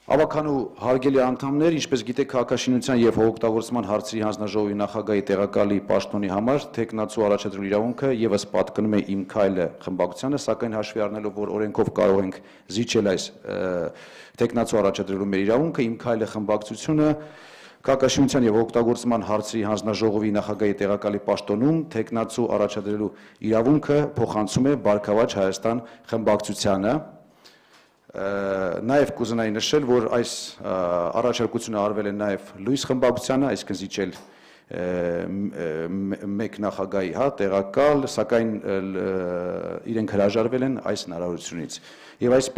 Ավականու հարգելի անդամներ, ինչպես գիտեք, քաղաքաշինության եւ հողօգտագործման հարցերի հանձնաժողովի նախագահի տեղակալի պաշտոնի համար թեկնածու առաջադրելու իրավունքը եւս պատկնում է Իմ քայլը խմբակցությանը, սակայն հաշվի առնելով, որ օրենքով կարող ենք զիջել այս թեկնածու առաջադրելու մեր իրավունքը, Իմ քայլը խմբակցությունը քաղաքաշինության եւ հողօգտագործման հարցերի հանձնաժողովի նախագահի տեղակալի պաշտոնում թեկնածու առաջադրելու իրավունքը փոխանցում է Բարգավաճ Հայաստան խմբակցությանը։ Նաև կուզենայի նշել, որ այս առաջարկությունը արվել է նաև Լույս խմբակցությանը, այսինքն զիջել մեկ նախագահի տեղակալ, սակայն իրենք հրաժարվել են այս հնարավորությունից։ Եվ այսպես